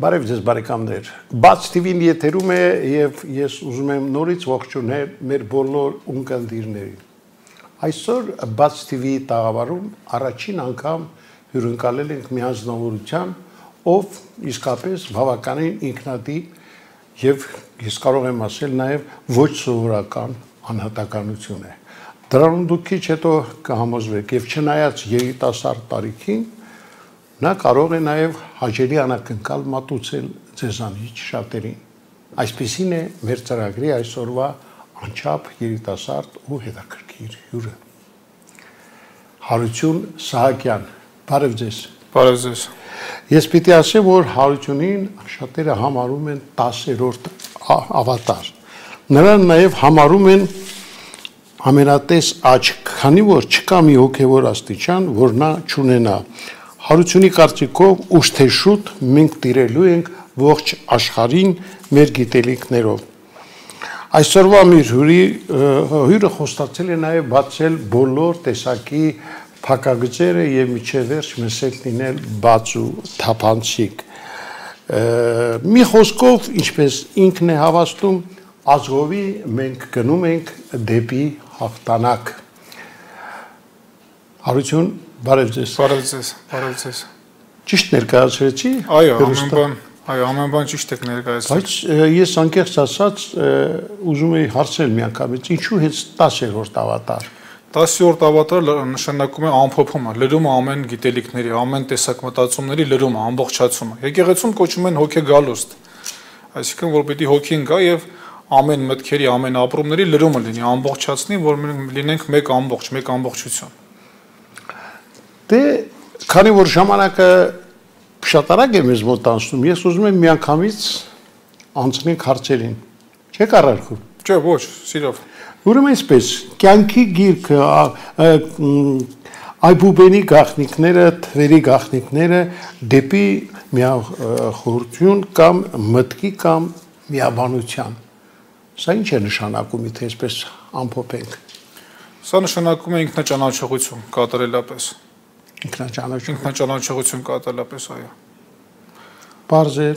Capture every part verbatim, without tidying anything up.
Բարև ձեզ բարեկամներ, Բաց թիվին եթերում է և ես ուզում եմ նորից ողջունել մեր բոլոր ունկնդիրներին։ Այսօր Բաց թիվի տաղավարում առաջին անգամ հյուրընկալել ենք մի անձնավորության, ով իսկապես բավականին ինքնատիպ և ես կարող եմ ասել նաև ոչ սովորական անհատականություն է։ Դրանում դուք քիչ հետո կհամոզվեք և չնայած երիտասարդ տարիքին, նա կարող է նաև հաճելի անակնկալ մատուցել ձեզանից շատերին։ Այսպիսին է մեր ծրագրի այսօրվա անչափ երիտասարդ ու հետաքրքիր հյուրը։ Հարություն Սահակյան, բարև ձեզ։ Բարև ձեզ։ Ես պիտի ասեմ, որ Հարությունին շատերը համարում են տասերորդ ավատար։ Նրան նաև համարում են ամենատես աչք, քանի որ չկա մի հոգևոր աստիճան, որ նա չունենա։ Հարությունի կարծիքով ուշ թե շուտ մենք տիրելու ենք ողջ աշխարհին մեր գիտելիքներով։ Այսօրվա մեր հյուրի հյուրը խոստացել է նաև բացել բոլոր տեսակի փակագծերը եւ միջև վերջ մսել լինել բաց ու թափանցիկ։ Մի խոսքով, ինչպես ինքն է հավաստում, ազգովի մենք գնում ենք դեպի հաղթանակ։ Հարություն, բարև ձեզ։ Բարև ձեզ, բարև ձեզ։ Ճիշտ ներկայացրեցի։ Այո, ամեն բան, այո, ամեն բան ճիշտ եք ներկայացրել։ Բայց ես անկեղծ ասած ուզում եի հարցնել միանգամից, ինչու հենց տասերորդ ավատար։ տասերորդ ավատարը նշանակում է ամփոփումը, լրումը ամեն գիտելիքների, ամեն տեսակ մտածումների լրումը, ամբողջացումը։ Եկեղեցում կոչում են հոգեգալուստ։ Այսինքն, որ պիտի հոգին գա եւ ամեն մտքերի, ամեն ապրումների լրումը լինի, ամբողջացնի, որ մենք լինենք մեկ ամբողջ, մեկ ամբողջություն։ Դե, քանի որ ժամանակը շատ արագ է մեզ մոտ անցնում, ես ուզում եմ միանգամից անցնենք հարցերին։ Չեք առարկում։ Չէ, ոչ, սիրով։ Ուրեմն այսպես, կյանքի գիրքը, այբուբենի գաղտնիքները, թվերի գաղտնիքները դեպի միախորություն կամ մտքի կամ միաբանության։ Սա ինչ է նշանակում, եթե այսպես ամփոփենք։ Սա նշանակում է ինքնաճանաչողություն կատարելապես։ Ինքնաճանաչություն։ Ինքնաճանաչողություն կատարելապես, այո։ Պարզ է։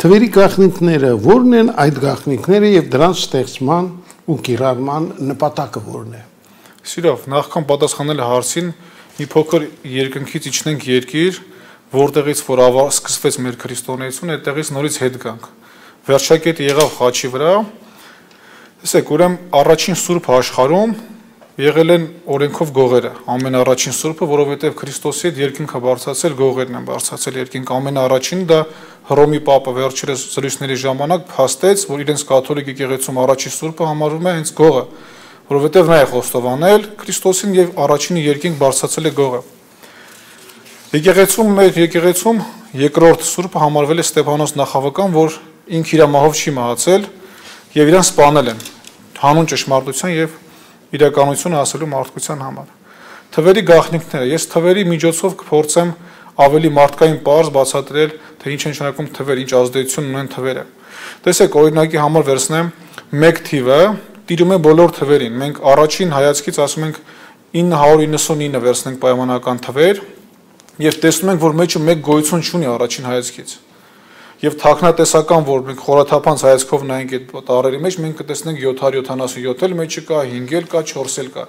Թվերի գաղտնիքները ո՞րն են այդ գաղտնիքները եւ դրանց ստեղծման ու կիրառման նպատակը ո՞րն է։ Սիրով, նախքան պատասխանել հարցին, մի փոքր երկնքից իջնենք երկիր, որտեղից որ սկսվեց մեր քրիստոնեությունը, այդտեղից նորից հետ գանք։ Վերջակետը եղավ խաչի վրա։ Տեսեք, ուրեմն առաջին սուրբ աշխարհում եղել են օրենքով գողերը, ամենաառաջին սուրբը, որովհետև Քրիստոսի հետ երկինքը բարձրացել գողերն են բարձրացել երկինք, ամենաառաջին դա Հռոմի պապը վերջերս զրույցների ժամանակ փաստեց, որ իրենց կաթոլիկ եկեղեցում առաջին սուրբը համարվում է հենց գողը, որովհետև նա է խոստովանել Քրիստոսին եւ առաջինը երկինք բարձրացել է գողը։ Եկեղեցում մեր եկեղեցում երկրորդ սուրբը համարվել է Ստեփանոս Նախավական, որ ինքը իր մահով չի մահացել եւ իրան սպանել են հանուն ճշմարտության եւ իրականությունը ասելու մարդկության համար։ Թվերի գաղտնիքները, ես թվերի միջոցով կփորձեմ ավելի մարդկային պարզ բացատրել, թե ինչ են նշանակում թվեր, ինչ ազդեցություն ունեն թվերը։ Տեսեք, օրինակի համար վերցնեմ մեկ թիվը տիրում է բոլոր թվերին։ Մենք առաջին հայացքից ասում ենք ինը հարյուր իննսունինը վերցնենք պայմանական թվեր եւ տեսնում ենք, որ մեջը մեկ գոյություն չունի առաջին հայացքից։ Եվ թաքնատեսական, որ մենք խորաթափանց հայացքով նայենք այդ տառերի մեջ, մենք կտեսնենք յոթ հարյուր յոթանասունյոթ էլ մեջը կա, հինգ էլ կա, չորս էլ կա,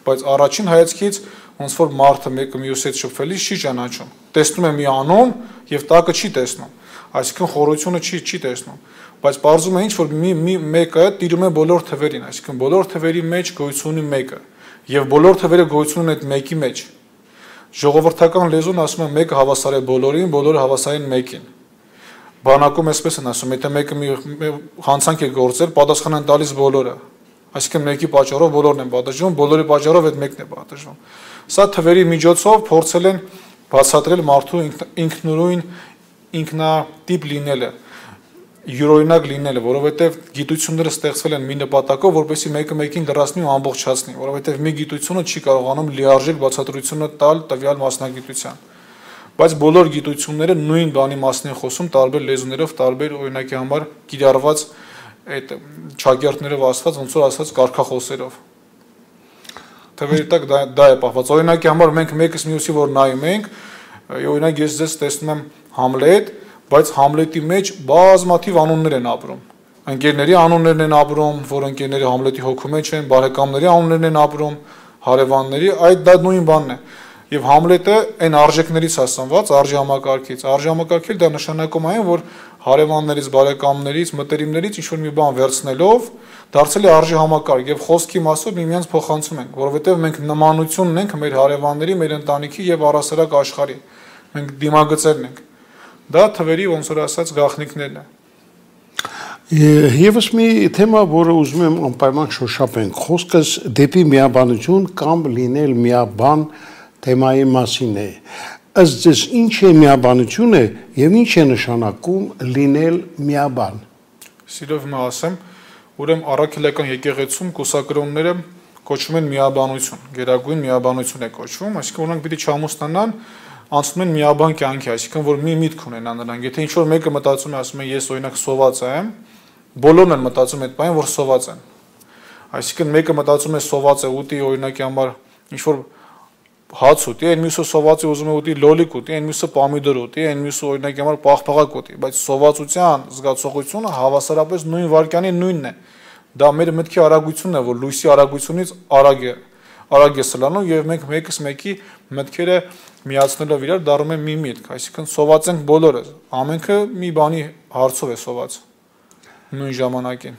բայց առաջին հայացքից ոնց որ մարդը մեկը մյուսից շփվելիս չի ճանաչում։ Տեսնում է մի անուն եւ տակը չի տեսնում, այսինքն խորությունը չի չի տեսնում, բայց պարզում է ինչ որ մի մի մեկը տիրում է բոլոր թվերին, այսինքն բոլոր թվերի մեջ գոյություն ունի մեկը եւ բոլոր թվերը գոյություն ունեն այդ մեկի մեջ։ Ժողովրդական լեզուն ասում է մեկը հավասար է բոլորին, բոլորը հավասար են մեկին։ Բանակում էսպես են ասում, եթե մեկը մի հանցանք է գործել, պատասխան են տալիս բոլորը։ Այսինքն մեկի պատճառով բոլորն են պատժվում, բոլորի պատճառով այդ մեկն է պատժվում։ Սա թվերի միջոցով փորձել են բացատրել մարդու ինքնուրույն ինքնատիպ լինելը, յուրօրինակ լինելը, որովհետև գիտությունները ստեղծվել են մի նպատակով, որպեսզի մեկը մեկին լրացնի ու ամբողջացնի, որովհետև մի գիտությունը չի կարողանում լիարժեք բացատրությունը տալ տվյալ մասնագիտության։ Բայց բոլոր գիտությունները նույն բանի մասն են խոսում տարբեր լեզուներով, տարբեր օրինակի համար կիրառված այդ ճակերտներով ասված, ոնց որ ասած կարգախոսերով։ Թվերի տակ դա, դա է պահված։ Օրինակի համար մենք մեկս մյուսի որ նայում ենք, օրինակ ես ձեզ տեսնում եմ Համլետ, բայց Համլետի մեջ բազմաթիվ անուններ են ապրում։ Ընկերների անուններն են ապրում, որ ընկերները Համլետի հոգու մեջ են, բարեկամների անուններն են ապրում, հարևանների, այդ դա նույն բանն է։ Եվ Համլետը այն արժեքներից հասանված, արժի համակարգից, արժի համակարգել դա նշանակում այն, որ հարևաններից, բարեկամներից, մտերիմներից ինչ-որ մի բան վերցնելով դարձել է արժի համակարգ եւ խոսքի մասով միմյանց փոխանցում ենք, որովհետեւ մենք նմանություն ունենք մեր հարևանների, մեր ընտանիքի եւ առասարակ աշխարհի։ Մենք դիմագծերն ենք։ Դա թվերի ոնց որ ասած գաղտնիքներն է։ Եվս մի թեմա, որը ուզում եմ անպայման շոշափենք, խոսքս դեպի միաբանություն կամ լինել միաբան թեմայի մասին է։ Ըստ ձեզ ինչ է միաբանությունը եւ ինչ է նշանակում լինել միաբան։ Սիրով մը ասեմ, ուրեմն առաքելական եկեղեցում կուսակրոնները կոչվում են միաբանություն, գերագույն միաբանություն է կոչվում, այսինքն նրանք պիտի չամուսնանան, անցնում են միաբան կյանքի, այսինքն որ մի միտք ունենան նրանք։ Եթե ինչ որ մեկը մտածում է, ասում է ես օրինակ սոված եմ, բոլորն են մտածում այդ բանը, որ սոված են։ Այսինքն մեկը մտածում է սոված է ուտի օրինակի համար ինչ որ հաց ուտի, այն մյուսը սոված է ուզում է ուտի լոլիկ ուտի, այն մյուսը պամիդոր ուտի, այն մյուսը օրինակի համար պաղպաղակ ուտի, բայց սովածության զգացողությունը հավասարապես նույն վարքյանի նույնն է։ Դա մեր մտքի արագությունն է, որ լույսի արագությունից արագ է, արագ է սլանում եւ մենք մեկս մեկի մտքերը միացնելով իրար դառնում են մի միտք, այսինքն սոված ենք բոլորը, ամենքը մի բանի հարցով է սոված նույն ժամանակին։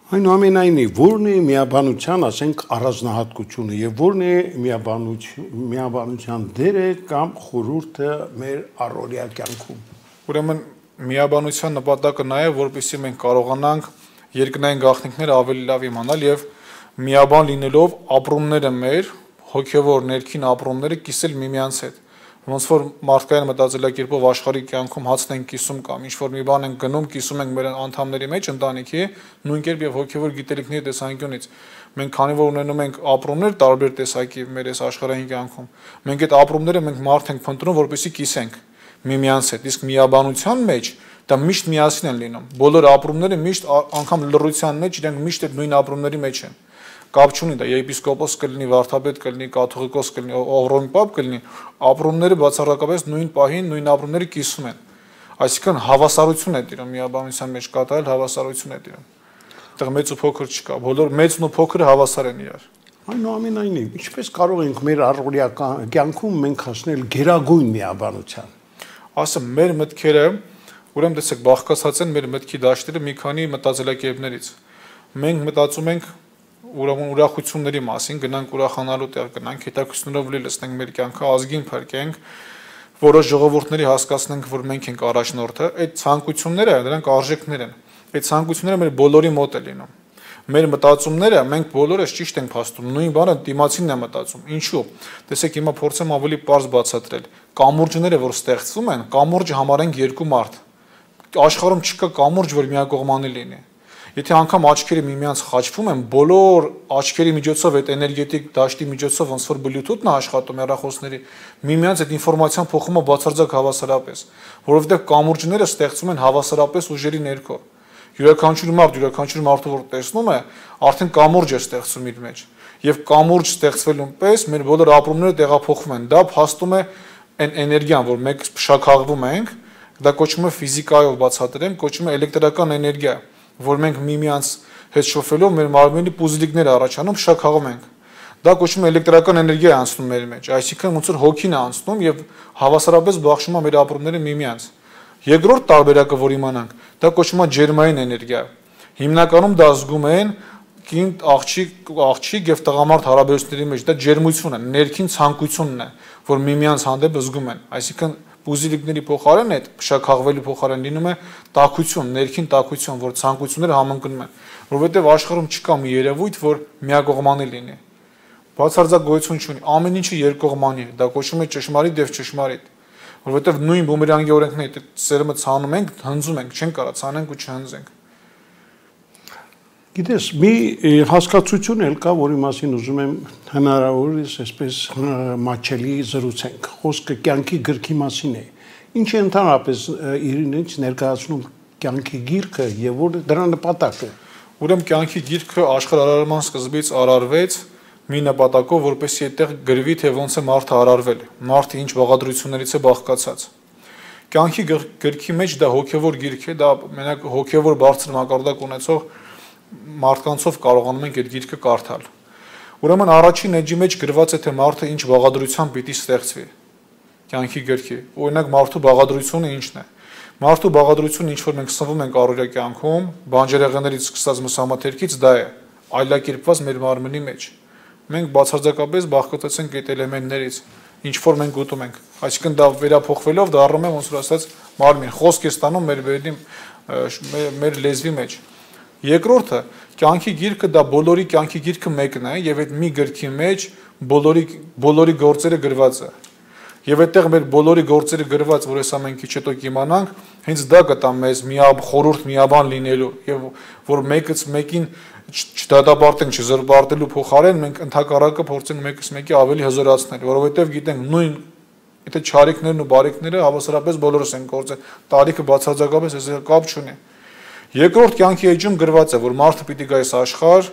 Այնուամենայնիվ, ո՞րն է միաբանության, ասենք, առանձնահատկությունը եւ ո՞րն է միաբանություն, միաբանության դերը կամ խորհուրդը մեր առօրյա կյանքում։ Ուրեմն միաբանության նպատակը նա է, որպեսզի մենք կարողանանք երկնային գաղտնիքները ավելի լավ իմանալ եւ միաբան լինելով ապրումները մեր հոգեվոր ներքին ապրումները կիսել միմյանց հետ։ Ոնց որ մարդկային մտածելակերպով աշխարհի կյանքում հացն են կիսում կամ ինչ որ մի բան են գնում, կիսում ենք մեր անդամների մեջ ընտանիքի, նույն կերպ եւ հոգեվոր գիտելիքների տեսանկյունից։ Մենք քանի որ ունենում ենք ապրումներ տարբեր տեսակի մեր այս աշխարհային կյանքում, մենք այդ ապրումները մենք մարդ ենք փնտրում, որպեսզի կիսենք միմյանց հետ։ Իսկ միաբանության մեջ դա միշտ միասին են լինում։ Բոլոր ապրումները միշտ անգամ լռության մեջ իրենք միշտ այդ նույն ապրումների մեջ են։ Կապ չունի դա եպիսկոպոս կլինի, վարդապետ կլինի, կաթողիկոս կլինի, Հռոմի պապ կլինի, ապրումները բացառակապես նույն պահին նույն ապրումները կիսում են։ Այսինքն հավասարություն է տիրում միաբանության մեջ կատարել հավասարություն է տիրում։ Այդտեղ մեծ ու փոքր չկա, բոլոր մեծն ու փոքրը հավասար են իրար։ Այնուամենայնիվ, ինչպես կարող ենք մեր առօրյա կյանքում մենք հասնել գերագույն միաբանության։ Ասեմ, մեր մտքերը, ուրեմն տեսեք, բաղկացած են մեր մտքի դաշտերը մի քանի մտածելակերպներից։ Մենք մտածում ենք ուրեմն ուրախությունների մասին, գնանք ուրախանալու տեղ, գնանք հետաքրքրությունով լի լցնենք մեր կյանքը, ազգին փրկենք, որոշ ժողովուրդների հասկացնենք, որ մենք ենք առաջնորդը, այդ ցանկությունները, դրանք արժեքներ են։ Այդ ցանկությունները մեր բոլորի մոտ է լինում։ Մեր մտածումները մենք բոլորս ճիշտ ենք փաստում, նույն բանը դիմացինն է մտածում։ Ինչու՞։ Տեսեք, հիմա փորձեմ ավելի པարզ բացատրել։ Կամուրջները, որ ստեղծվում են, կամուրջը համարենք երկու մարդ։ Աշխարհում չկա կամուրջ, որ միակողմանի լինի։ Եթե անգամ աչքերը միմյանց խաչվում են, բոլոր աչքերի միջոցով այդ էներգետիկ դաշտի միջոցով ոնց որ բլութութն է աշխատում հեռախոսների, միմյանց այդ ինֆորմացիան փոխում է բացարձակ հավասարապես, որովհետև կամուրջները ստեղծվում են հավասարապես ուժերի ներքո։ Յուրաքանչյուր մարդ, յուրաքանչյուր մարդը որ տեսնում է, արդեն կամուրջ է ստեղծում իր մեջ։ Եվ կամուրջ ստեղծվելուն պես մեր բոլոր ապրումները տեղափոխվում են։ Դա փաստում է այն էներգիան, որ մենք փշաքաղվում ենք, դա կոչվում է ֆիզիկայով բացատրեմ, կոչվում է էլեկտրական էներգիա, որ մենք միմյանց հետ շփվելով մեր մարմնի պուզլիկները առաջանում փշաքաղում ենք։ Դա կոչվում է էլեկտրական էներգիա է անցնում մեր մեջ, այսինքն ոնց որ հոգին է անցնում եւ հավասարապես բաշխում է մեր ապրումները միմյանց։ Երկրորդ տարբերակը, որ իմանանք, դա կոչվում է ջերմային էներգիա։ Հիմնականում դա զգում են կին աղջիկ, աղջիկ եւ տղամարդ հարաբերությունների մեջ, դա ջերմություն է, ներքին ցանկությունն է, որ միմյանց հանդեպ զգում են։ Այսինքն պուզիլիկների փոխարեն այդ փշաքաղվելու փոխարեն լինում է տաքություն, ներքին տաքություն, որ ցանկությունները համընկնում են, որովհետեւ աշխարհում չկա մի երևույթ, որ միակողմանի լինի։ Բացարձակ գոյություն չունի, ամեն ինչը երկկողմանի է, դա կոչվում է ճշմարիտ եւ ճշմարիտ, որովհետեւ նույն բումերանգի օրենքն է, այդ սերմը ցանում ենք, հնձում ենք, չենք կարող ցանենք ու չհնձենք։ Գիտես, մի հասկացություն էլ կա, որի մասին ուզում եմ հնարավորինս այսպես մատչելի զրուցենք։ Խոսքը կյանքի գրքի մասին է։ Ինչ է ընդհանրապես իրենից ներկայացնում կյանքի գիրքը եւ որ դրա նպատակը։ Ուրեմն կյանքի գիրքը աշխարհարարման սկզբից արարվեց մի նպատակով, որպեսզի այդտեղ գրվի, թե ոնց է մարդը արարվել, մարդը ինչ բաղադրություններից է բաղկացած։ Կյանքի գրքի մեջ դա հոգևոր գիրք է, դա մենակ հոգևոր բարձր մակարդակ ունեցող մարդկանցով կարողանում ենք այդ գիրքը կարդալ։ Ուրեմն առաջին էջի մեջ գրված է թե մարդը ինչ բաղադրությամբ պիտի ստեղծվի կյանքի գրքի։ Օրինակ մարդու բաղադրությունը ինչն է։ Մարդու բաղադրությունը ինչ որ մենք սնվում ենք առօրյա կյանքում, բանջարեղեններից սկսած մսամաթերքից դա է, այլակերպված մեր մարմնի մեջ։ Մենք բացարձակապես բաղկացած ենք այդ էլեմենտներից, ինչ որ մենք ուտում ենք, այսինքն դա վերափոխվելով դառնում է ոնց որ ասած մարմին, խոսք է ստանում մեր բերդի մեր լեզվի մեջ։ Երկրորդը, կյանքի գիրքը դա բոլորի կյանքի գիրքը մեկն է եւ այդ մի գրքի մեջ բոլորի բոլորի գործերը գրված է։ Եվ այդտեղ մեր բոլորի գործերը գրված, որ հեսա մենք քիչ հետո կիմանանք, հենց դա կտա մեզ միապ խորուրդ միաբան լինելու եւ որ մեկից մեկին չդատապարտենք, չզրպարտելու փոխարեն մենք ընդհակառակը փորձենք մեկից մեկի ավելի հզորացնել, որովհետեւ գիտենք նույն եթե չարիքներն ու բարիքները հավասարապես բոլորս են գործել, տարիքը բացարձակապես այսպես կապ չունի։ Երկրորդ կյանքի էջում գրված է, որ մարդը պիտի գա այս աշխարհ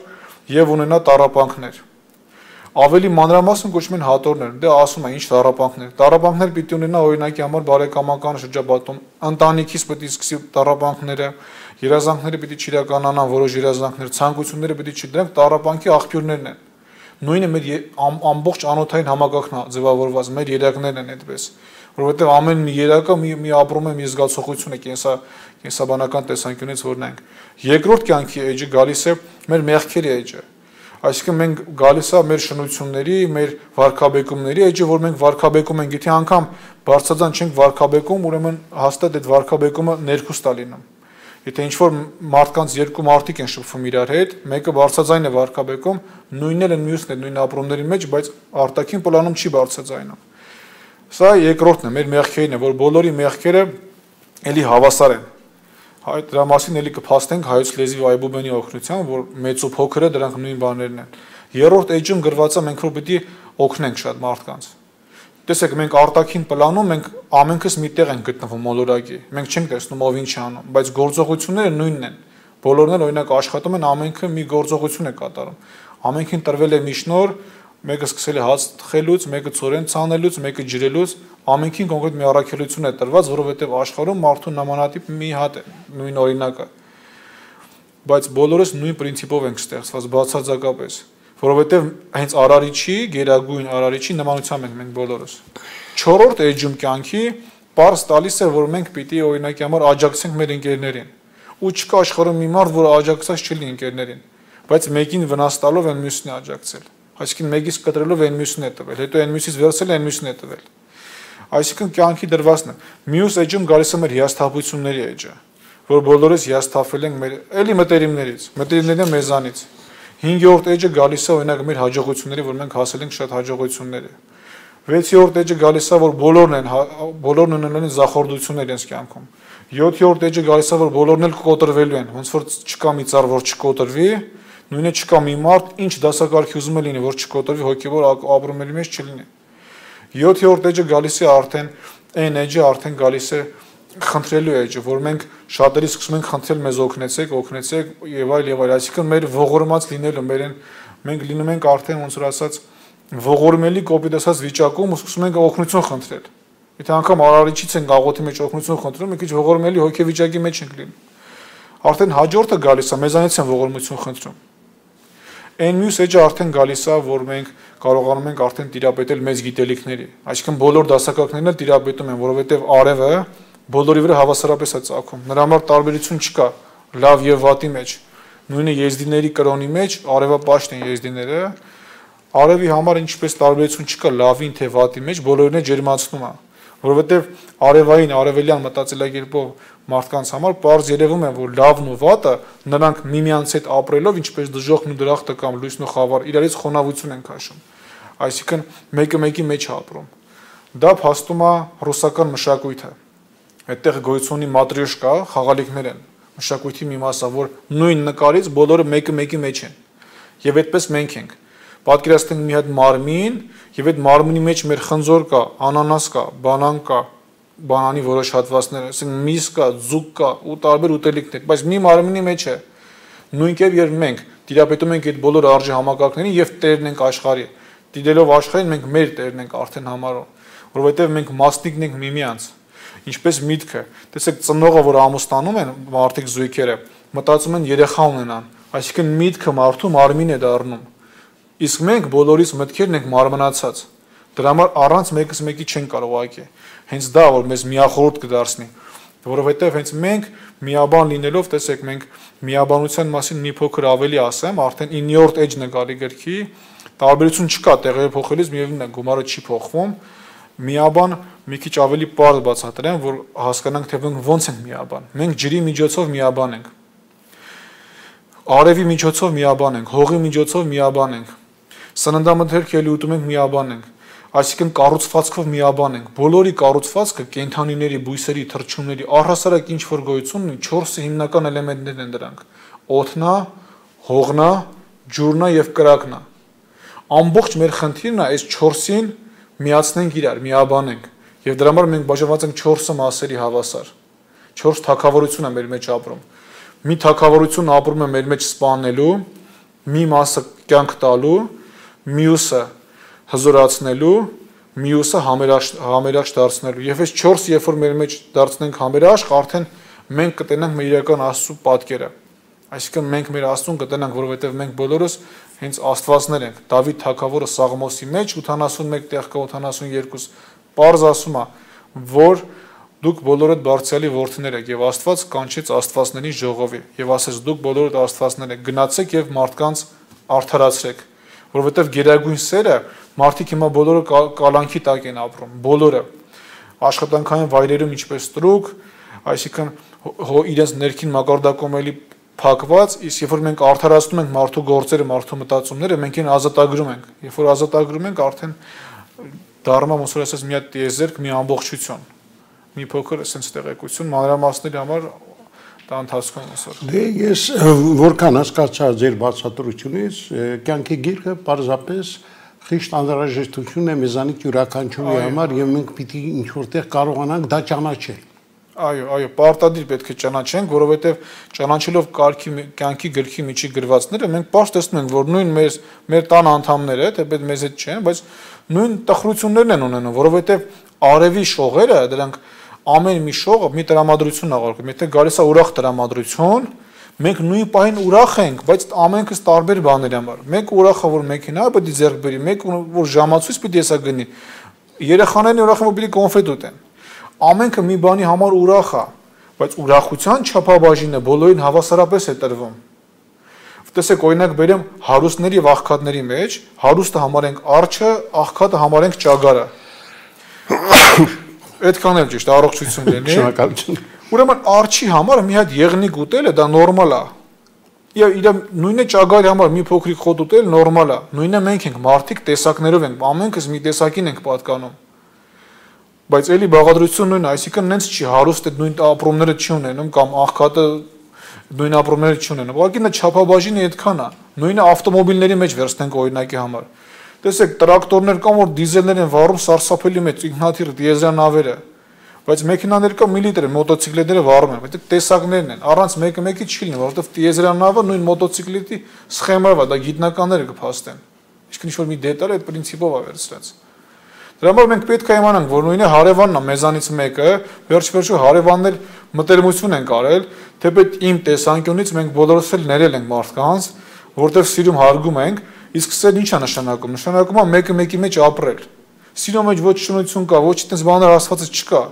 եւ ունենա տառապանքներ։ Ավելի մանրամասն կոչվում են հատորներ, դե ասում են ինչ տառապանքներ։ Տառապանքներ պիտի ունենա օրինակի համար բարեկամական շրջապատում, ընտանիքից պիտի սկսի տառապանքները, երազանքները պիտի չիրականանան, որոշ երազանքներ, ցանկությունները պիտի չի, դրանք տառապանքի աղբյուրներն են։ Նույնը մեր ամբողջ անոթային համակարգն է ձևավորված, մեր երակներն են այդպես, որովհետև ամեն մի երակը մի մի ապրում է մի զգացողություն է, կենսա կենսաբանական տեսանկյունից որ նայենք։ Երկրորդ կյանքի էջը գալիս է մեր մեղքերի էջը։ Այսինքն մենք գալիս է մեր շնությունների, մեր վարքաբեկումների էջը, որ մենք վարքաբեկում ենք, եթե անգամ բարձրացան չենք վարքաբեկում, ուրեմն հաստատ այդ վարքաբեկումը ներքուստ է լինում։ Եթե ինչ-որ մարդկանց երկու մարդիկ են շփվում իրար հետ, մեկը բարձրաձայն է վարքաբեկում, նույնն էլ են մյուսն է նույն ապրումների մեջ, բայց արտաքին պլանում չի բարձրաձայնում։ Սա երկրորդն է, մեր մեղքերն է, որ բոլորի մեղքերը էլի հավասար են։ Այդ դրա մասին էլի կփաստենք հայոց լեզվի այբուբենի օգնությամբ, որ մեծ ու փոքրը դրանք նույն բաներն են։ Երրորդ էջում գրված է մենք որ պիտի օգնենք շատ մարդկանց։ Տեսեք, մենք արտաքին պլանում մենք ամենքս մի տեղ ենք գտնվում մոլորակի։ Մենք չենք տեսնում ով ինչ է անում, բայց գործողությունները նույնն են։ Բոլորն էլ օրինակ աշխատում են, ամենքը մի գործողություն է կատարում։ Ամենքին տրվել է մի շնոր, մեկը սկսել է հաց թխելուց, մեկը ծորեն ցանելուց, մեկը ջրելուց, ամենքին կոնկրետ մի առաքելություն է տրված, որովհետև աշխարհում մարդու նմանատիպ մի հատ է, նույն օրինակը։ Բայց բոլորս նույն պրինցիպով ենք ստեղծված բացարձակապես, որովհետև հենց Արարիչի, Գերագույն Արարիչի նմանությամբ ենք մենք բոլորս։ Չորրորդ էջում կյանքի պարզ տալիս է, որ մենք պիտի օրինակի համար աջակցենք մեր ընկերներին։ Ու չկա աշխարհում մի մարդ, որ աջակցած չլինի ընկերներին, բայց մեկին վնաս տալով են մյուսին աջակցել։ Այսինքն մեկից կտրելով այն մյուսին է տվել, հետո այն մյուսից վերցել այն մյուսին է տվել։ Այսինքն կյանքի դրվածն է։ Մյուս էջում գալիս է մեր հիասթափությունների էջը, որ բոլորս հիասթափվել ենք մեր էլի մտերիմներից, մտերիմները մեզանից։ Հինգերորդ էջը գալիս է օրինակ մեր հաջողությունների, որ մենք հասել ենք շատ հաջողությունների։ Վեցերորդ էջը գալիս է, որ բոլորն են բոլորն ունենալու են զախորդություններ իրենց կյանքում։ Յոթերորդ էջը գալիս է, որ բոլորն էլ կկոտրվելու են, ոնց որ չկա մի ծառ, որ չկոտրվի, նույնը չկա մի մարդ, ինչ դասակարգի ուզում է լինի, որ չկոտրվի, հոգևոր ապրումների մեջ չլինի։ Յոթերորդ էջը գալիս է արդեն այն էջը արդեն գալիս է խնդրելու էջը, որ մենք շատերի սկսում ենք խնդրել մեզ օգնեցեք, օգնեցեք եւ այլ եւ այլ, այսինքն մեր ողորմած լինելը, մեր մենք լինում ենք արդեն ոնց որ ասած ողորմելի կոպիտ ասած վիճակում ու սկսում ենք օգնություն խնդրել։ Եթե անգամ Արարիչից ենք աղոթի մեջ օգնություն խնդրում, մի քիչ ողորմելի հոգեվիճակի մեջ ենք լինում։ Արդեն հաջորդը գալիս է, մեզանից են ողորմություն խնդրում։ Այն մյուս էջը արդեն գալիս է, որ մենք կարողանում ենք արդեն տիրապետել մեծ գիտելիքների։ Այսինքն բոլոր դասակարգներն էլ տիրապետում են, որովհետև արևը բոլորի վրա հավասարապես է ծագում։ Նրա համար տարբերություն չկա լավ եւ վատի մեջ։ Նույնը եզդիների կրոնի մեջ արևապաշտ են եզդիները։ Արևի համար ինչպես տարբերություն չկա լավին թե վատի մեջ, բոլորին է ջերմացնում է, որովհետև արևային արևելյան մտածելակերպով մարդկանց համար պարզ երևում է, որ լավն ու վատը նրանք միմյանց հետ ապրելով, ինչպես դժոխքն ու դրախտը կամ լույսն ու խավար, իրարից խոնավություն են քաշում։ Այսինքն մեկը մեկի մեջ է ապրում։ Դա փաստում է ռուսական մշակույթը։ Այդտեղ գոյություն ունի մատրյոշկա, խաղալիքներ են։ Մշակույթի մի մասը, որ նույն նկարից բոլորը մեկը մեկի մեջ են։ Եվ այդպես մենք ենք։ Պատկերացնենք մի հատ մարմին, եւ այդ մարմնի մեջ մեր խնձոր կա, անանաս կա, բանան կա, բանանի որոշ հատվածներ, ասենք միս կա, ձուկ կա ու տարբեր ուտելիքներ, բայց մի մարմնի մեջ է։ Նույնքեւ երբ մենք տիրապետում ենք այդ բոլոր արժի համակարգներին եւ տերն ենք աշխարհի, դիտելով աշխարհին մենք մեր տերն ենք արդեն համարում, որովհետեւ մենք մասնիկն ենք միմյանց։ Ինչպես միտքը, տեսեք ծնողը, որ ամուսնանում են մարդիկ զույգերը, մտածում են երեխա ունենան, այսինքն միտքը մարդու մարմին է դառնում։ Իսկ մենք բոլորիս մտքերն ենք մարմնացած։ Դրա համար առանց մեկս մեկի չեն կարող ուղղակի։ Հենց դա որ մեզ միախորհուրդ կդարձնի, որովհետև հենց մենք միաբան լինելով, տեսեք, մենք միաբանության մասին մի փոքր ավելի ասեմ, արդեն իններորդ էջն է գալի գրքի, տարբերություն չկա տեղերը փոխելիս, միևնույնն է, գումարը չի փոխվում։ Միաբան մի քիչ ավելի պարզ բացատրեմ, որ հասկանանք, թե մենք ոնց ենք միաբան։ Մենք ջրի միջոցով միաբան ենք։ Արևի միջոցով միաբան ենք, հողի միջոցով միաբան ենք։ Սննդամթերք ելի ուտում ենք միաբան ենք։ Այսինքն կառուցվածքով միաբան ենք։ Բոլորի կառուցվածքը կենդանիների, բույսերի, թռչունների առհասարակ ինչ որ գոյություն ունի, չորս հիմնական էլեմենտներն են դրանք։ Օդնա, հողնա, ջուրնա եւ կրակնա։ Ամբողջ մեր խնդիրն է այս չորսին միացնենք իրար, միաբանենք։ Եվ դրա համար մենք բաժանված ենք չորս մասերի հավասար։ չորս թագավորություն է մեր մեջ ապրում։ Մի թագավորություն ապրում է մեր մեջ սպանելու, մի մասը կյանք տալու, մյուսը հզորացնելու, մյուսը համերաշխ դարձնելու։ Եվ այս չորս երբ որ մեր մեջ դարձնենք համերաշխ, արդեն մենք կտենանք մեր իրական Աստծո պատկերը։ Այսինքն մենք մեր Աստծուն կտենանք, որովհետև մենք բոլորս հենց աստվածներ ենք։ Դավիթ թագավորը Սաղմոսի մեջ ութանասունմեկ տեղ կա ութանասունյոթ պարզ ասում է, որ դուք բոլորդ Բարձրյալի որդիներ եք, եւ Աստված կանչեց աստվածների ժողովի եւ ասեց դուք բոլորդ աստվածներ եք, գնացեք եւ մարդկանց արդարացրեք, որովհետեւ գերագույն սերը մարդիկ հիմա բոլորը կալանքի տակ են ապրում, բոլորը աշխատանքային վայրերում ինչպես տրուկ, այսինքն իրենց ներքին մակարդակում էլի փակված, իսկ երբ որ մենք արդարացնում ենք մարդու գործերը, մարդու մտածումները, մենք այն ազատագրում ենք։ Երբ որ ազատագրում ենք, արդեն դառնում է ոնց որ ասած մի հատ տիեզերք, մի ամբողջություն, մի փոքր sense տեղեկություն մանրամասների համար դա ընթացքում այսօր։ Դե ես որքան հասկացա ձեր բացատրությունից, կյանքի գիրքը պարզապես խիստ անհրաժեշտություն է մեզանից յուրաքանչյուրի համար եւ մենք պիտի ինչ որտեղ կարողանանք դա ճանաչել։ Այո, այո, պարտադիր պետք է ճանաչենք, որովհետև ճանաչելով կարգի կյանքի գրքի միջի գրվածները մենք պարզ տեսնում ենք, որ նույն մեր մեր տան անդամները, թեպետ մեզ հետ չեն, բայց նույն տխրություններն են ունենում, որովհետև արևի շողերը, դրանք ամեն մի շողը մի տրամադրություն աղարկում։ Եթե գալիս է ուրախ տրամադրություն, մենք նույն պահին ուրախ ենք, բայց ամենքս տարբեր բաների համար։ Մեկ ուրախը որ մեքենա պետք է ձեռք բերի, մեկ որ ժամացույց պետք է հեսա գնի։ Երեխաներն ուրախ են, որ պետք է կոնֆետ ուտեն։ Ամենքը մի բանի համար ուրախ է, բայց ուրախության չափաբաժինը բոլորին հավասարապես է տրվում։ Տեսեք, օրինակ բերեմ հարուստների եւ աղքատների մեջ, հարուստը համարենք արջը, աղքատը համարենք ճագարը։ Այդքան էլ ճիշտ, առողջություն լինի։ Շնորհակալություն։ Ուրեմն արջի համար մի հատ եղնիկ ուտելը դա նորմալ է։ Եվ իր նույնը ճագարի համար մի փոքրիկ խոտ ուտել նորմալ է։ Նույնը մենք ենք, մարդիկ տեսակներով ենք, ամենքս մի տեսակին ենք պատկանում։ Բայց էլի բաղադրություն նույնն է, այսինքն նենց չի հարուստ է նույն ապրումները չի ունենում կամ աղքատը նույն ապրումները չի ունենում։ Ուղղակի նա չափաբաժինը այդքան է։ Նույնը ավտոմոբիլների մեջ վերցնենք օրինակի համար։ Տեսեք, տրակտորներ կան, որ դիզելներ են վառում սարսափելի մեծ ինքնաթիռ դիեզերանավերը, բայց մեքենաներ կան միլիտր են, մոտոցիկլետները վառում են, այդ տեսակներն են, առանց մեկը մեկի չի լինի, որովհետև դիեզերանավը նույն մոտոցիկլետի սխեմայով է, դա գիտնականները կփաստեն։ Իսկ ինչ որ մի դետալ այդ պրինցիպով է վերցրած։ Դրա համար մենք պետք է իմանանք, որ նույնը հարևանն է մեզանից մեկը, վերջ-վերջո հարևաններ մտերմություն են կարել, թեպետ իմ տեսանկյունից մենք բոլորս էլ ներել ենք մարդկանց, որտեղ սիրում հարգում ենք, իսկ սերն ինչ է նշանակում։ Նշանակում է մեկը մեկի մեջ ապրել։ Սիրո մեջ ոչ շնորհություն կա, ոչ այդպես բաներ ասվածը չկա։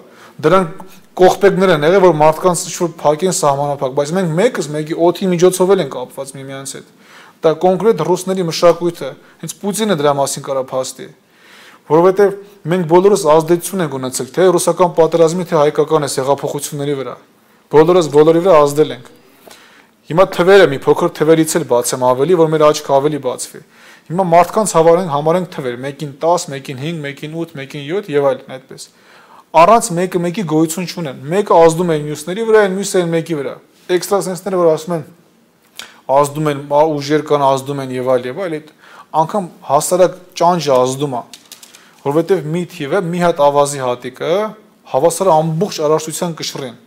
Դրանք կողպեգներ են եղել, որ մարդկանց ինչ-որ փակեն սահմանափակ, բայց մենք մեկս մեկի օդի միջոցով էլ ենք կապված միմյանց հետ։ Դա կոնկրետ ռուսների մշակույթը, հենց Պուտինը դրա մասին կարա փաստի։ Որովհետև մենք բոլորս ազդեցություն ենք ունեցել թե ռուսական պատերազմի, թե հայկական այս հեղափոխությունների վրա։ Բոլորս բոլորի վրա ազդել ենք։ Հիմա թվերը մի փոքր թվերից էլ բացեմ ավելի, որ մեր աչքը ավելի բացվի։ Հիմա մարդկանց հավանենք համարենք թվեր, մեկին տաս, մեկին հինգ, մեկին ութ, մեկին յոթ եւ այլն այդպես։ Առանց մեկը մեկի գոյություն չունեն։ Մեկը ազդում է մյուսների վրա, մյուսը այն մեկի վրա։ Էքստրասենսները որ ասում են ազդում են, ուժեր կան ազդում են եւ այլ եւ այլ, այդ անգամ հասարակ ճանճը ազդում է։ Որովհետև մի թիվը մի հատ ավազի հատիկը հավասար ամբողջ արարչության կշռին,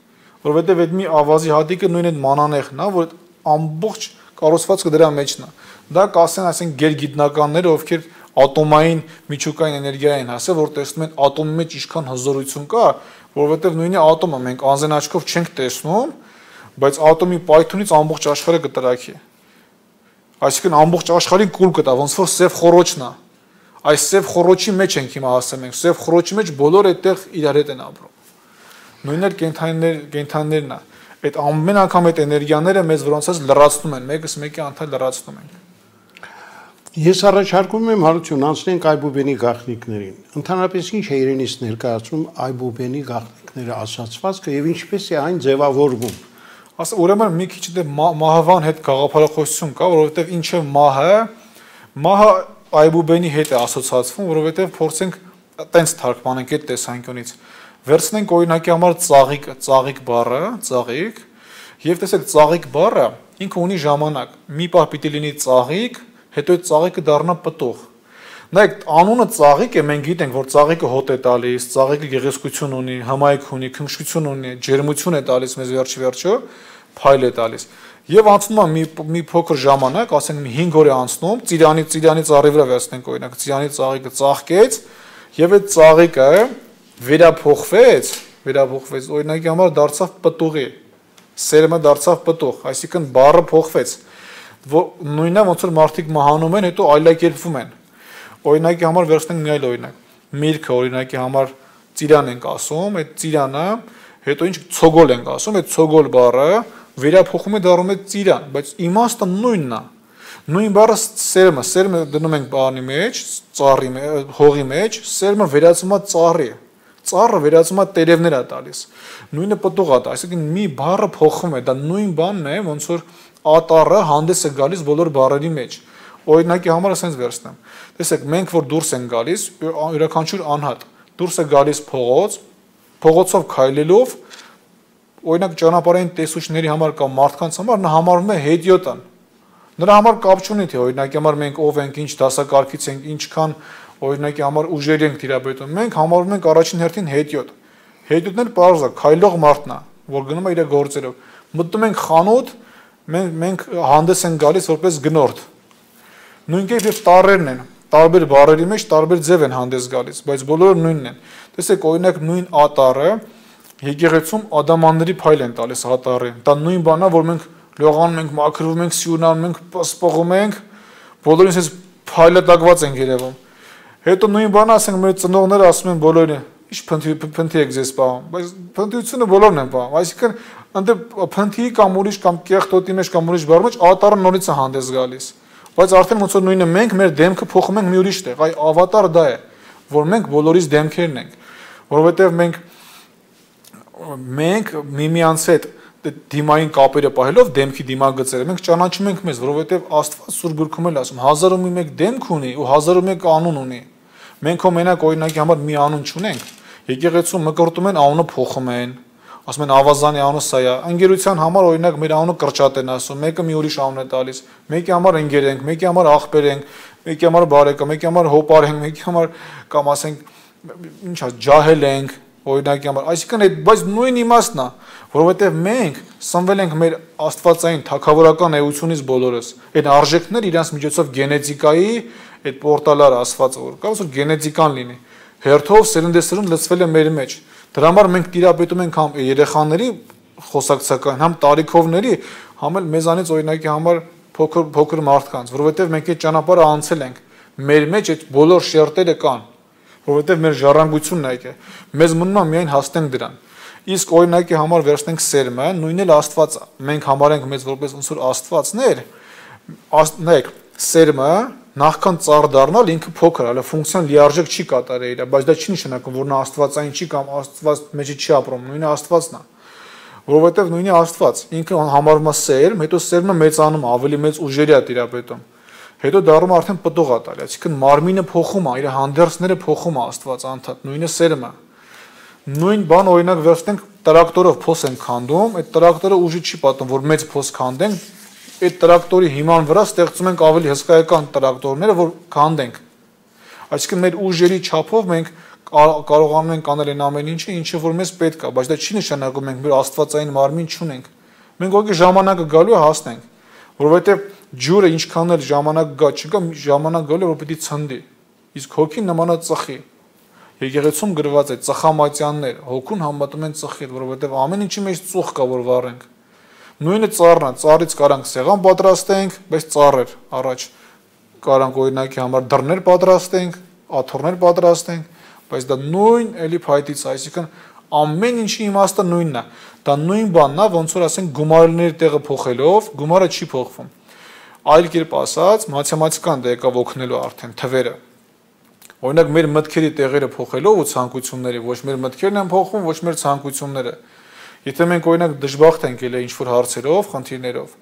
որովհետև այդ մի ավազի հատիկը նույն այդ մանանեխն է, որ ամբողջ կառուցվածքը դրա մեջն է։ Դա կասեն, ասենք գերգիտնականները, ովքեր ատոմային միջուկային էներգիա են հասել, որ տեսնում են ատոմի մեջ ինչքան հզորություն կա, որովհետև նույնի ատոմը մենք անձն աչքով չենք տեսնում, բայց ատոմի պայթունից ամբողջ աշխարհը կտրակի։ Այսինքն ամբողջ աշխարհին կուլ կտա, ոնց որ սև խոռոչն է։ Այս սև խոռոչի մեջ ենք հիմա ասում ենք, սև խոռոչի մեջ բոլորը այդտեղ իրար հետ են ապրում։ Նույնն էլ կենթանիներ, կենթանիներն է։ Այդ ամեն անգամ այդ էներգիաները մեզ որոնցած լրացնում են, մեկս մեկի անթալ լրացնում են։ Ես առաջարկում եմ Հարություն անցնենք Այբուբենի գաղտնիքներին։ Ընդհանրապես ինչ է իրենից ներկայացնում Այբուբենի գաղտնիքները ասացվածքը եւ ինչպես է այն ձևավորվում։ Ասա ուրեմն մի քիչ դե մահվան հետ գաղափարախոսություն կա, որովհետեւ ինչ է մահը, մահը Այբուբենի հետ է ասոցացվում, որովհետեւ փորձենք տենց թարգմանենք այդ տեսանկյունից։ Վերցնենք օրինակի համար ծաղիկ, ծաղիկ բառը, ծաղիկ, եւ տեսեք ծաղիկ բառը ինքը ունի ժամանակ։ Մի պահ պիտի լինի ծաղիկ, հետո այդ ծաղիկը դառնա պտուղ։ Նայեք, անունը ծաղիկ է, մենք գիտենք, որ ծաղիկը հոտ է տալիս, ծաղիկը գեղեցկություն ունի, հմայք ունի, քնքշություն ունի, ջերմություն է տալիս մեզ վերջի վերջո, փայլ է տալիս։ Եվ անցնում է մի մի փոքր ժամանակ, ասենք մի հինգ օր է անցնում, ծիրանի ծիրանի ծառի վրա վերցնենք օրինակ, ծիրանի ծաղիկը ծաղկեց, եւ այդ ծաղիկը վերափոխվեց, վերափոխվեց, օրինակի համար դարձավ պտուղի, սերմը դարձավ պտուղ, այսինքն բառը փոխվեց։ Նույնն է ոնց որ մարդիկ մահանում են, հետո այլակերպվում են։ Օրինակի համար վերցնենք մի այլ օրինակ։ Միրգը օրինակի համար ծիրան ենք ասում, այդ ծիրանը, հետո ինչ ցոգոլ ենք ասում, այդ ցոգոլ բառը վերափոխում է դառնում է ծիրան, բայց իմաստը նույնն է։ Նույն բառը սերմը, սերմը դնում ենք բանի մեջ, ծառի մեջ, հողի մեջ, սերմը վերածվում է ծառի։ Ծառը վերածվում է տերևներ է տալիս։ Նույնը պտուղ է, այսինքն մի բառը փոխվում է, դա նույն բանն է, ոնց որ ատարը հանդես է գալիս բոլոր բառերի մեջ։ Օրինակի համար ասենց վերցնեմ։ Տեսեք, մենք որ դուրս են գալիս, յուրաքանչյուր անհատ դուրս է գալիս փողոց, փողոցով քայլելով, օրինակ ճանապարհային տեսուչների համար կամ մարդկանց համար նա համարվում է հետիոտան։ Նրա համար կապ չունի թե օրինակի համար մենք ով ենք, ինչ դասակարգից ենք, ինչքան օրինակի համար ուժեր ենք տիրապետում։ Մենք համարվում ենք առաջին հերթին հետիոտ։ Հետիոտն էլ պարզ է, քայլող մարդն է, որ գնում է իր գործերով։ Մտնում ենք խանութ, մենք մենք հանդես են գալիս որպես գնորդ։ Նույն կերպ եւ տառերն են, տարբեր բառերի մեջ տարբեր ձև են հանդես գալիս, բայց բոլորը նույնն են։ Տեսեք, օրինակ նույն ատարը եկեղեցում ադամանների փայլ են տալիս ատարին։ Դա նույն բանն է, որ մենք լողանում ենք, մաքրվում ենք, սյունանում ենք, սպողում ենք, բոլորին էս փայլատակված են երևում։ Հետո նույն բանը ասենք մեր ծնողները ասում են բոլորին, ի՞նչ փնթի փնթի եք ձեզ պահում, բայց փնթիությունը բոլորն են պահում, այսինքն ընդ փնթի կամ ուրիշ կամ կեղտոտի մեջ կամ ուրիշ բառ մեջ ատարը նորից է հանդես գալիս, բայց արդեն ոնց որ նույնը մենք մեր դեմքը փոխում ենք մի ուրիշ տեղ, այ ավատարը դա է, որ մենք բոլորից դեմքերն ենք, որովհետև մենք մենք միմյանց հետ դիմային կապերը պահելով դեմքի դիմագծերը մենք ճանաչում ենք մեզ, որովհետև Աստված Սուրբ Գրքում էլ ասում հազար ու մեկ դեմք ունի ու հազար ու մեկ անուն ունի։ Մենք հո մենակ օրինակի համար մի անուն չունենք։ Եկեղեցում մկրտում են անունը փոխում են, ասում են Ավազանի անունը սա է։ Ընկերության համար օրինակ մեր անունը Կրճատ են ասում, մեկը մի ուրիշ անուն է տալիս։ Մեկի համար ընկեր ենք, մեկի համար աղբեր ենք, մեկի համար բարեկամ, մեկի համար հոպար ենք, մեկի համար կամ ասենք ինչ է, ջահել ենք, օրինակի համար, այսինքն այդ բայց նույն իմաստն է, որովհետև մենք սնվել ենք մեր աստվածային թագավորական էությունից բոլորս, այդ արժեքներ իրանց միջոցով գենետիկայի այդ պորտալար ասված որ կա, որ գենետիկան լինի, հերթով սերնդեսերունդ լցվել է մեր մեջ, դրա համար մենք տիրապետում ենք համ երեխաների խոսակցական, համ տարիքովների, համ էլ մեզանից օրինակի համար փոքր փոքր մարդկանց, որովհետև մենք այդ ճանապարհը անցել ենք, մեր մեջ այդ բոլոր շերտերը կան, որովհետև մեր ժառանգությունն է, մեզ մնում է միայն հասնենք դրան։ Իսկ օրինակի համար վերցնենք սերմը, նույնն էլ Աստված, մենք համարենք մեզ որպես ոնց որ աստվածներ, նայեք, սերմը նախքան ծառ դառնալ ինքը փոքր, հələ ֆունկցիան լիարժեք չի կատարել իր, բայց դա չի նշանակում, որ նա աստվածային չի կամ Աստված մեջը չի ապրում, նույնը Աստվածն է։ Որովհետև նույնի Աստված, ինքը համարվում է սերմ, հետո սերմը մեծանում, ավելի մեծ ուժերի է տիրապետում։ Հետո դառնում արդեն պտուղ է տալի, այսինքն մարմինը փոխում է, իր հանդերձները փոխում է Աստված անդադ, նույնը սերմը։ Նույն բան օրինակ վերցնենք տրակտորով փոս են քանդում, այդ տրակտորը ուժի չի պատում, որ մեծ փոս քանդենք, այդ տրակտորի հիման վրա ստեղծում ենք ավելի հսկայական տրակտորները, որ քանդենք։ Այսինքն մեր ուժերի չափով մենք կարողանում ենք անել այն ամեն ինչը, ինչը որ մեզ պետք է, բայց դա չի նշանակում մենք մեր աստվածային մարմին չունենք։ Մենք ուղղակի ժամանակը գալու է հասնենք, որովհետև ջուրը ինչքան էլ ժամանակ գա չկա, ժամանակ գալու է որ պիտի ցնդի։ Իսկ հոգին նմանա ծխի։ Եկեղեցում գրված է ծխամատյաններ, հոգուն համատում են ծխիդ, որովհետև ամեն ինչի մեջ ծուխ կա, որ վառենք։ Նույնը ծառն է, ծառից կարանք սեղան պատրաստենք, բայց ծառեր առաջ կարանք օրինակի համար դռներ պատրաստենք, աթոռներ պատրաստենք, բայց դա նույն էլի փայտից, այսինքն ամեն ինչի իմաստը նույնն է։ Դա նույն բանն է, ոնց որ ասենք գումարների տեղը փոխելով, գումարը չի փոխվում։ Այլ կերպ ասած, մաթեմատիկան դա եկավ օգնելու արդեն թվերը։ Օրինակ մեր մտքերի տեղերը փոխելով ու ցանկությունները, ոչ մեր մտքերն են փոխվում, ոչ մեր ցանկությունները։ Եթե մենք օրինակ դժբախտ ենք ելել ինչ-որ հարցերով, խնդիրներով,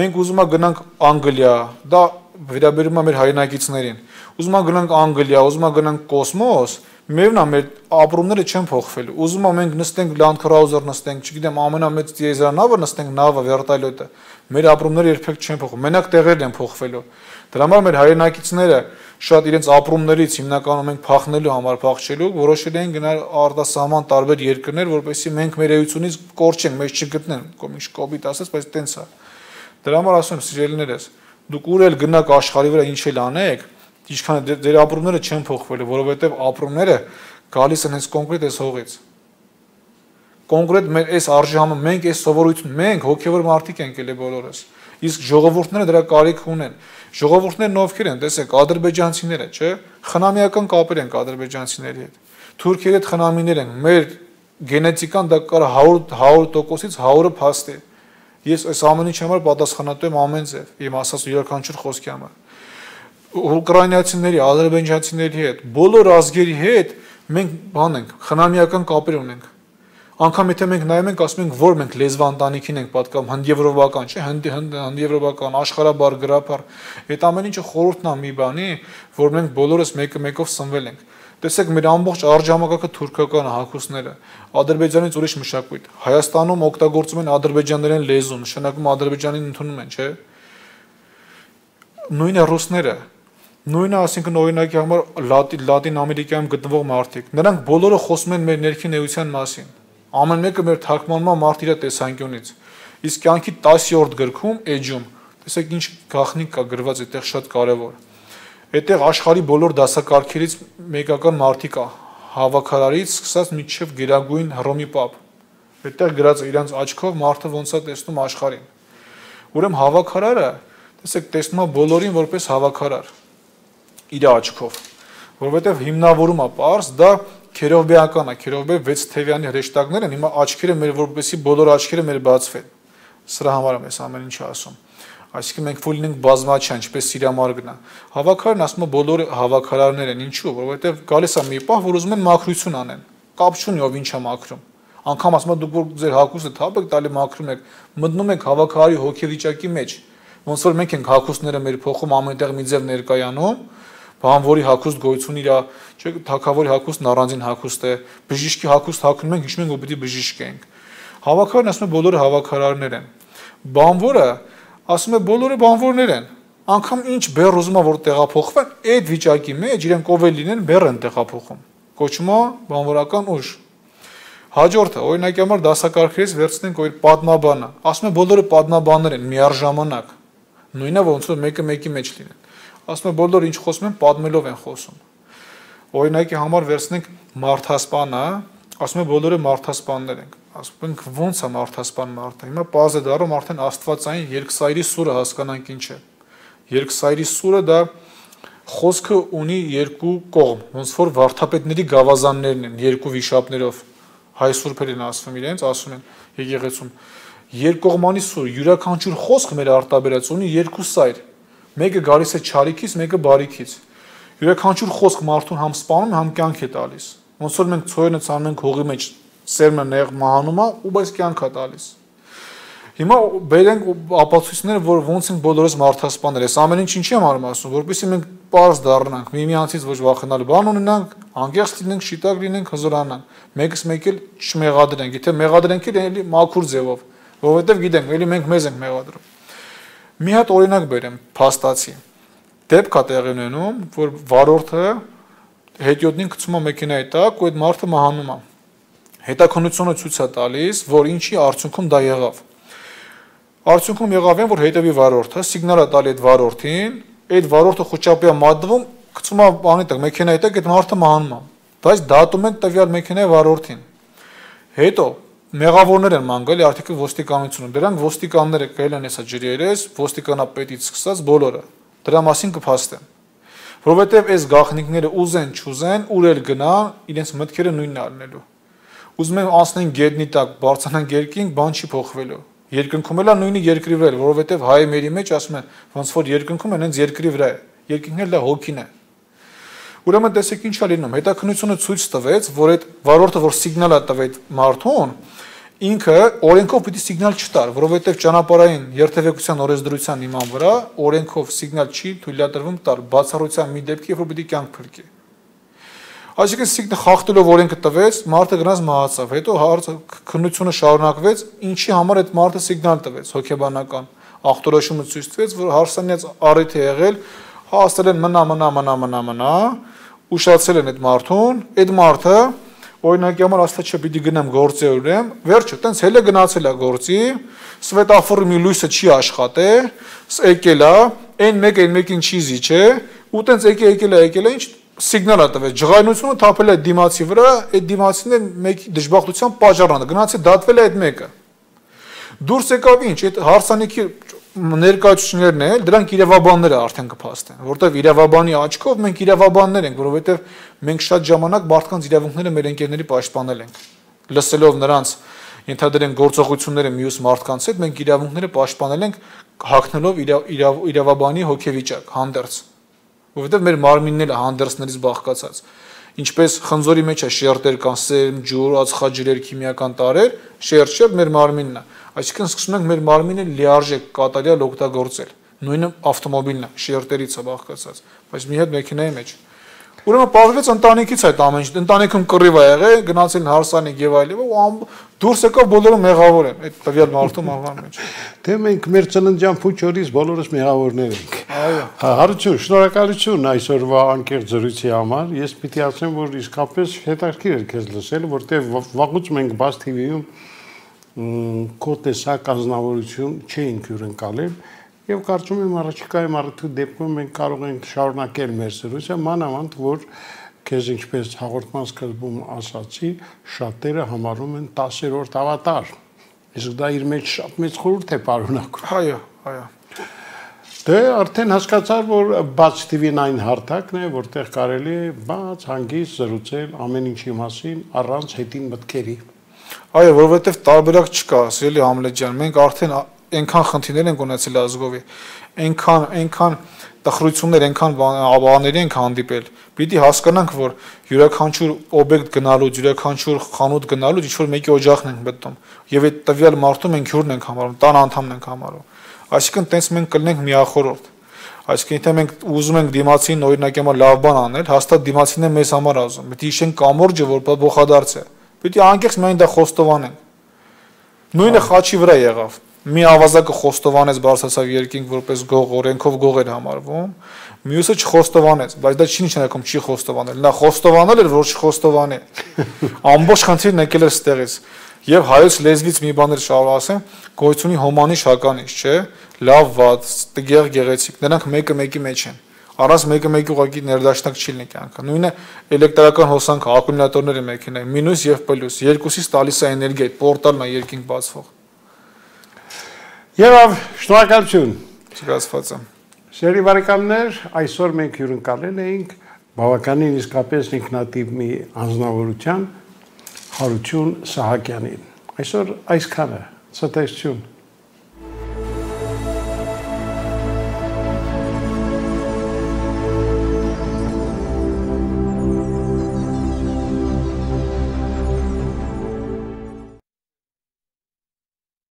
մենք ուզում ենք գնանք Անգլիա, դա վերաբերում է մեր հայրենակիցներին։ Ուզում ենք գնանք Անգլիա, ուզում ենք գնանք կոսմոս, միևնույն է մեր ապրումները չեն փոխվելու։ Ուզում ենք մենք նստենք Land Cruiser նստենք, չգիտեմ, ամենամեծ տիեզերանավը նստենք, նավը, վերտալյոտը, մեր ապրումները երբեք չեն փոխվում, մենակ տեղերն են փոխվելու։ Դրա համար մեր հայրենակիցները շատ իրենց ապրումներից հիմնականում մենք փախնելու համար փախչելու, որոշել են գնալ արտասահման տարբեր երկրներ, որպեսզի մենք մեր էությունից կորչենք, մեզ չգտնեն, կոմիշ կոպիտ ասած, բայց տենց է։ Դրա համար ասում եմ, սիրելիներս, դուք ուր էլ գնաք աշխարհի վրա ինչ էլ անեք, ինչքան ձեր ապրումները չեն փոխվելու, որովհետև ապրումները գալիս են հենց կոնկրետ այս հողից։ Կոնկրետ մեր այս արժանումը, մենք այս սովորություն, մենք հոգևոր մարդիկ ենք ելի բոլորս։ Իսկ ժողովուրդները դրա կարիք ունեն։ Ժողովուրդներն ովքեր են, տեսեք, ադրբեջանցիները, չէ՞, խնամիական կապեր են ադրբեջանցիների հետ։ Թուրքերի հետ խնամիներ են, մեր գենետիկան դա կարա հարյուր տոկոսից հարյուրը փաստի։ Ես այս ամեն ինչի համար պատասխանատու եմ ամեն ձև, իմ ասած յուրաքանչյուր խոսքի համար։ Ուկրաինացիների, ադրբեջանցիների հետ, բոլոր ազգերի հետ մենք բան ենք, խնամիական կապեր ունենք։ Անկամ եթե մենք նայում ենք, ասում ենք, որ մենք լեզվա ընտանիքին ենք պատկանում, հնդեվրոպական, չէ՞, հնդեվրոպական, աշխարհաբար, գրաբար, այդ ամեն ինչը խորհուրդն է մի բանի, որ մենք բոլորս մեկը մեկով սնվել ենք։ Տեսեք, մեր ամբողջ արժանապատվը թուրքական հագուստները, Ադրբեջանից ուրիշ մշակույթ։ Հայաստանում օգտագործում են ադրբեջաներեն լեզու, նշանակում ադրբեջանին ընդունում են, չէ՞։ Նույնը ռուսները, նույնը, ասինքն օրինակի համար Լատին Ամերիկայում գտնվող մարդիկ, նրանք բոլորը խոսում են մեր ներքին էության մասին։ Ամեն մեկը մեր թարգմանման մարդ իր տեսանկյունից։ Իսկ կյանքի տասերորդ գրքում էջում, տեսեք ինչ գաղտնիք կա գրված այդտեղ շատ կարևոր։ Այդտեղ աշխարհի բոլոր դասակարգերից մեկական մարդիկ կա, հավաքարարից սկսած մինչև գերագույն Հռոմի պապ։ Այդտեղ գրած է իրանց աչքով մարդը ոնց է տեսնում աշխարհին։ Ուրեմն հավաքարարը, տեսեք, տեսնում է բոլորին որպես հավաքարար իր աչքով, որովհետև հիմնավորում է պարզ, դա Քերովբեական է, Քերովբե վեց թևյանի հրեշտակներ են, հիմա աչքերը մեր որպեսի բոլոր աչքերը մեր բացվեն։ Սրա համար եմ ես ամեն ինչ ասում։ Այսինքն մենք որ լինենք բազմաչափ, ինչպես Սիրամարգն է։ Հավաքարարն ասում է բոլոր հավաքարարներ են, ինչու՞, որովհետև գալիս է մի պահ, որ ուզում են մաքրություն անեն։ Կապ չունի ով ինչ է մաքրում։ Անկամ ասում է դուք որ ձեր հագուստը թափ եք տալի մաքրում եք, մտնում եք հավաքարարի հոգեվիճակի մեջ։ Ոնց որ մենք ենք հագուստները մեր փոխում ամենտեղ մի ձև ներկայանում, բանվորի հագուստ գոյություն իրա, չէ՞, թագավորի հագուստն առանձին հագուստ է, բժիշկի հագուստ հագնում ենք, հիշում ենք, որ պիտի բժիշկ ենք։ Հավաքարարն ասում է բոլորը հավաքարարներ են։ Բանվորը ասում է բոլորը բանվորներ են։ Անկամ ինչ բեռ ուզում է որ տեղափոխվեն, այդ վիճակի մեջ իրենք ով էլ լինեն բեռ են տեղափոխում։ Կոչվում է բանվորական ուժ։ Հաջորդը, օրինակի համար դասակարգերից վերցնենք օր պատմաբանը։ Ասում է բոլորը պատմաբաններ են միառժամանակ։ Նույնը ոնց որ մեկը մեկի մեջ լինեն։ Ասում է բոլորը ինչ խոսում են, պատմելով են խոսում։ Օրինակի համար վերցնենք մարդասպանը, ասում է բոլորը մարդասպաններ են։ Ասում ենք ո՞նց է մարդասպան մարդը։ Հիմա պարզ է դառնում արդեն աստվածային երկսայրի սուրը հասկանանք ինչ է։ Երկսայրի սուրը դա խոսքը ունի երկու կողմ, ոնց որ վարդապետների գավազաններն են, երկու վիշապներով։ Հայ սուրբերին ասում իրենց, ասում են եկեղեցում երկկողմանի սուր, յուրաքանչյուր խոսք մեր արտաբերած ունի երկու սայր։ Մեկը գալիս է չարիքից, մեկը բարիքից։ Յուրաքանչյուր խոսք մարդուն համ սպանում, համ կյանք է տալիս։ Ոնց որ մենք ցոյնը ցանում ենք հողի մեջ, սերմը նեղ մահանում է ու բայց կյանք է տալիս։ Հիմա բերենք ապացույցները, որ ոնց են բոլորս մարդասպաներ։ Այս ամեն ինչ ինչի եմ արում ասում, որովհետեւ մենք պարզ դառնանք, միմյանցից ոչ վախենալու բան ունենանք, անկեղծ լինենք, շիտակ լինենք, հզորանանք։ Մեկս մեկ էլ չմեղադրենք, եթե մեղադրենք էլ էլի մաքուր ձևով, որովհետեւ գիտենք, էլի մենք մեզ ենք մեղադրում։ Մի հատ օրինակ բերեմ, փաստացի։ Դեպք է տեղի ունենում, որ վարորդը հետիոտնին գցում է մեքենայի տակ, ու այդ մարդը մահանում է։ Հետաքննությունը ցույց է տալիս, որ ինչի արդյունքում դա եղավ։ Արդյունքում եղավ այն, որ հետևի վարորդը սիգնալ է տալի այդ վարորդին, այդ վարորդը խոճապի է մատնում, գցում է բանի տակ, մեքենայի տակ, այդ մարդը մահանում է։ բայց դատում են տվյալ մեքենայի վարորդին։ Հետո մեղավորներ են ման գալի արդյոք ոստիկանությունը։ Դրանք ոստիկանները կայել են հեսա ջրերես, ոստիկանապետից սկսած բոլորը։ Դրա մասին կփաստեն։ Որովհետև այս գաղտնիքները ուզեն, չուզեն, ուր էլ գնան, իրենց մտքերը նույնն առնելու։ Ուզում են անցնեն գետնի տակ, բարձրանան երկինք, բան չի փոխվելու։ Երկնքում էլ է նույնի երկրի վրա, որովհետև հայը մերի մեջ ասում են, ոնց որ երկնքում են, հենց երկրի վրա է։ Երկինքն էլ դա հոգին է։ Ուրեմն տեսեք ինչ է լինում, հետաքննությունը ցույց տվեց, որ այդ վարորդը, որ սիգնալ է տվել մարդուն, ինքը օրենքով պիտի սիգնալ չտար, որովհետև ճանապարհային երթևեկության օրենսդրության իման վրա օրենքով սիգնալ չի թույլատրվում տալ բացառության մի դեպքի, երբ որ պիտի կյանք փրկի։ Այսինքն սիգնալ խախտելով օրենքը տվեց, մարդը գնաց մահացավ, հետո քննությունը շարունակվեց, ինչի համար այդ մարդը սիգնալ տվեց, հոգեբանական ախտորոշումը ցույց տվեց, որ հարսանյաց առիթ է եղել, հասել են մնա մնա մնա մնա մնա, ուշացել են այդ մարդուն, այդ մարդը օրինակի համար ասած չէ պիտի գնամ գործի ուրեմ, վերջը տենց հելը գնացել է գործի, սվետաֆորի մի լույսը չի աշխատել, եկել է, այն մեկ այն մեկին չի զիջե, ու տենց եկել եկել է եկել է, ինչ սիգնալ է տվել, ջղայնությունը թափել է դիմացի վրա, այդ դիմացին էլ մեկի դժբախտության պատճառն է, գնացի դատվել է այդ մեկը։ Դուրս եկավ ինչ, այդ հարսանիքի ներկայացուցիչներն են, դրանք իրավաբանները արդեն կփաստեն, որտեղ իրավաբանի աչքով մենք իրավաբաններ ենք, որովհետև մենք շատ ժամանակ մարդկանց իրավունքները մեր ընկերների պաշտպանել ենք։ Լսելով նրանց ենթադրեն գործողությունները մյուս մարդկանց հետ, մենք իրավունքները պաշտպանել ենք հագնելով իրավաբանի հոգեվիճակ, հանդերձ, որովհետև մեր մարմինն էլ հանդերձներից բաղկացած։ Ինչպես խնձորի մեջ է շերտեր կան, սերմ, ջուր, ածխաջրեր, քիմիական տարրեր, շերտ-շերտ մեր մարմինն է։ Այսինքն սկսում ենք մեր մարմինը լիարժեք կատարյալ օգտագործել։ Նույնը ավտոմոբիլն է, շերտերից է բաղկացած, բայց մի հատ մեքենայի մեջ։ Ուրեմն պարզվեց ընտանիքից այդ ամեն ինչ, ընտանիքում կռիվ է եղել, գնացին հարսանիք եւ այլն, ու դուրս եկավ բոլորը մեղավոր են այդ տվյալ մարդու մահվան մեջ։ Դե մենք մեր ծննդյան փուչորից բոլորս մեղավորներ ենք։ Այո։ Հարություն, շնորհակալություն այսօրվա անկեղծ զրույցի համար։ Ես պիտի ասեմ, որ իսկապես հետաքրքիր էր քեզ լսել, որտեղ վաղուց մենք բաց թի վի-ում քո տեսակ ազնվորություն չէինք հյուրընկալել եւ կարծում եմ առաջիկայում առիթի դեպքում մենք կարող ենք շարունակել մեր զրույցը, մանավանդ որ քեզ ինչպես հաղորդման սկզբում ասացի, շատերը համարում են տասերորդ ավատար։ Իսկ դա իր մեջ շատ մեծ խորհուրդ է պարունակում։ Այո, այո։ Դե արդեն հասկացար, որ բաց թի վին այն հարթակն է, որտեղ կարելի է բաց հանգիստ զրուցել ամեն ինչի մասին առանց հետին մտքերի։ Այո, որովհետև տարբերակ չկա, սիրելի Համլետ, մենք արդեն այնքան խնդիրներ ենք ունեցել ազգովի, այնքան այնքան տխրություններ, այնքան բաների ենք հանդիպել։ Պիտի հասկանանք, որ յուրաքանչյուր օբյեկտ գնալու, յուրաքանչյուր խանութ գնալու ինչ որ մեկի օջախն ենք մտնում, եւ այդ տվյալ մարդու մենք հյուրն ենք համարում, տան անդամն ենք համարում։ Այսինքն տենց մենք կլինենք միախորհուրդ։ Այսինքն եթե մենք ուզում ենք դիմացին օրինակ եմա լավ բան անել, հաստատ դիմացին է մեզ համար ասում։ Պիտի հիշենք կամորջը, որ փոխադարձ է։ Պիտի անկեղծ միայն դա խոստովանենք։ Նույնը խաչի վրա եղավ։ Մի ավազակը խոստովանեց բարձրացավ երկինք որպես գող, օրենքով գող էր համարվում, մյուսը չխոստովանեց, բայց դա չի նշանակում չի խոստովանել։ Նա խոստովանել էր, որ չխոստովանի։ Ամբողջ խնդիրն եկել էր ստեղից։ Եվ հայոց լեզվից մի բան էլ շարունակ ասեմ, գոյությունի հոմանիշ հականիշ, չէ՞, լավ, վատ, տգեղ, գեղեցիկ, նրանք մեկը մեկի մեջ են։ Առանց մեկը մեկի ուղղակի ներդաշնակ չի լինի կյանքը։ Նույնը էլեկտրական հոսանքը, ակումուլյատորները մեքենայի, մինուս եւ պլյուս, երկուսից տալիս է էներգիա, պորտալն է երկինք բացվող։ Եվ շնորհակալություն։ Չգացված եմ։ Սերի բարեկամներ, այսօր մենք հյուրընկալել էինք բավականին իսկապես ինքնատիպ մի անձնավորության Հարություն Սահակյանին։ Այսօր այսքանը, ցտեսություն։